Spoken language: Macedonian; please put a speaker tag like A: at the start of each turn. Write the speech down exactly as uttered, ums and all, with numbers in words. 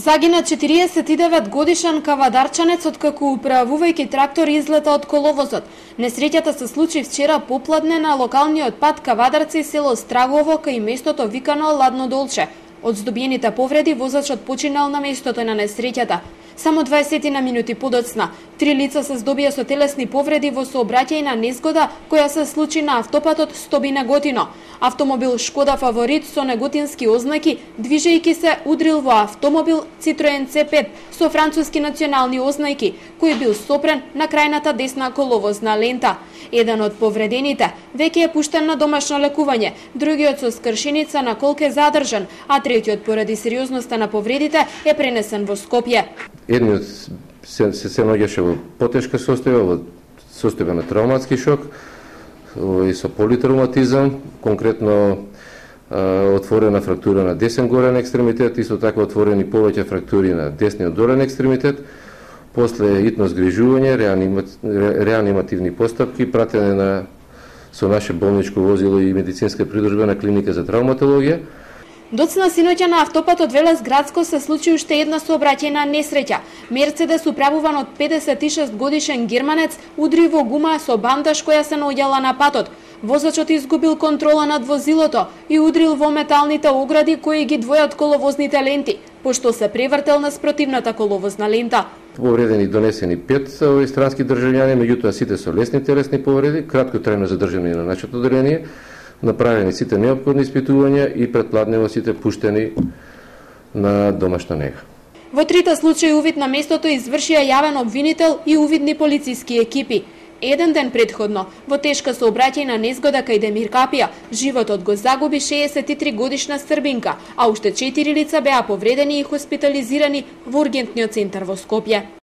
A: Загина четириесет и девет годишен кавадарчанец откако управувајќи трактор излета од коловозот. Несреќата се случи вчера попладне на локалниот пат Кавадарци, село Страгово, кај местото викано Ладно Долче. Од здобиените повреди возачот починал на местото на несреќата. Само дваесет на минути подоцна, три лица се здобија со телесни повреди во сообраќајна незгода која се случи на автопатот Стобина-Готино. Автомобил Шкода Фаворит со неготински ознаки, движејќи се, удрил во автомобил Citroen Це пет со француски национални ознаки, кој бил сопрен на крајната десна коловозна лента. Еден од повредените веќе е пуштен на домашно лекување, другиот со скршеница на колке задржан, а третиот поради сериозноста на повредите е пренесен во Скопје.
B: Едниот се, се, се наоѓаше во потешка состојба, во состојба на травматски шок и со политравматизам, конкретно а, отворена фрактура на десен горен екстремитет, исто така отворени повеќе фрактури на десниот долен екстремитет. После итно згрижување, реанимативни постапки, пратене на со наше болничко возило и медицинска придружба на клиника за травматологија.
A: Доцна синоќа на автопатот Велес Градско се случи уште една сообраќајна несреќа. Мерцедес управуван од педесет и шест годишен германец удри во гума со бандаж која се наоѓала на патот. Возачот изгубил контрола над возилото и удрил во металните огради кои ги двојат коловозните ленти, пошто се превртел на спротивната коловозна лента.
B: Повредени донесени пет овој странски државјани, меѓутоа сите со лесни телесни повреди, кратко трајно задржани на нашето одделение. Направени сите неопходни испитувања и предпладнево сите пуштени на домашна нега.
A: Во трите случаи увид на местото извршија јавен обвинител и увидни полициски екипи. Еден ден предходно, во тешка сообраќајна незгода кај Демир Капија, животот го загуби шеесет и три годишна србинка, а уште четири лица беа повредени и хоспитализирани во ургентниот центар во Скопје.